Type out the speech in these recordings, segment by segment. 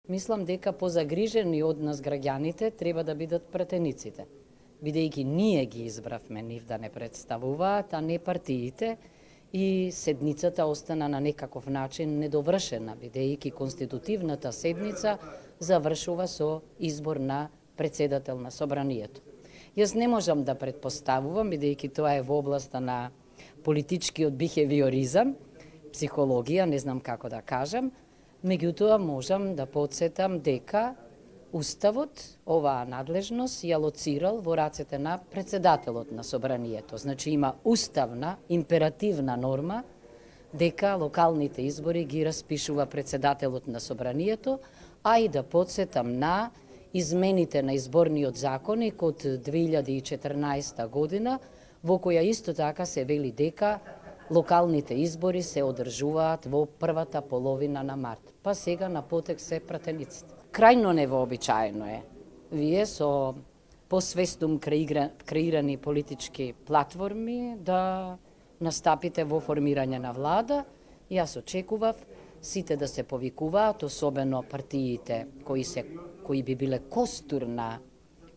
Мислам дека позагрижени од нас граѓаните треба да бидат пратениците, бидејќи ние ги избравме нив да не представуваат, а не партиите, и седницата остана на некаков начин недовршена, бидејќи конститутивната седница завршува со избор на председател на собранието. Јас не можам да претпоставувам, бидејќи тоа е во областа на политичкиот бихевиоризам, психологија, не знам како да кажам, меѓутоа можам да подсетам дека Уставот оваа надлежност ја лоцирал во рацете на председателот на собранието. Значи има уставна, императивна норма дека локалните избори ги распишува председателот на собранието, а и да подсетам на измените на изборниот законник од 2014 година, во која исто така се вели дека локалните избори се одржуваат во првата половина на март. Па сега на потек се пратениците. Крајно невообичаено е вие со посвестум креирани политички платформи да настапите во формирање на влада. Јас очекував сите да се повикуваат, особено партиите кои би биле костур на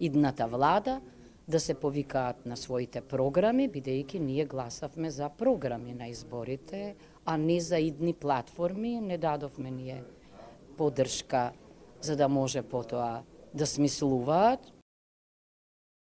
идната влада, да се повикаат на своите програми, бидејќи ние гласавме за програми на изборите, а не за идни платформи. Не дадовме ние поддршка за да може потоа да смислуваат.